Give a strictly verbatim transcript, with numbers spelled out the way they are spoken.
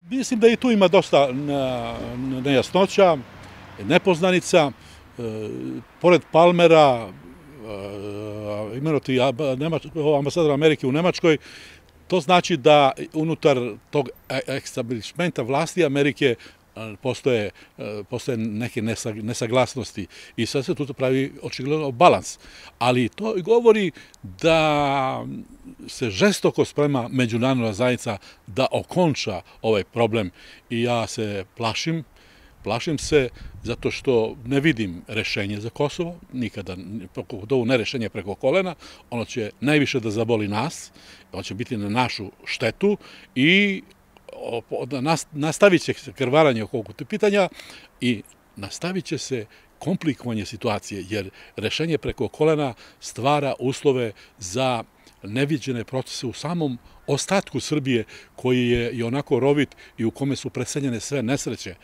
Mislim da i tu ima dosta nejasnoća, nepoznanica. Pored Palmera, imenovati ambasadora Amerike u Nemačkoj, to znači da unutar tog establishmenta vlasti Amerike postoje, postoje neke nesaglasnosti i sad se tu pravi očigledno balans. Ali to govori da se žestoko sprema međunarodna zajednica da okonča ovaj problem i ja se plašim, plašim se zato što ne vidim rešenje za Kosovo, nikada, ovo ne rešenje preko kolena, ono će najviše da zaboli nas, ono će biti na našu štetu i nastavit će se krvaranje oko ovog pitanja i nastavit će se komplikovanje situacije, jer rešenje preko kolena stvara uslove za neviđene procese u samom ostatku Srbije, koji je i onako rovit i u kome su preseljene sve nesreće.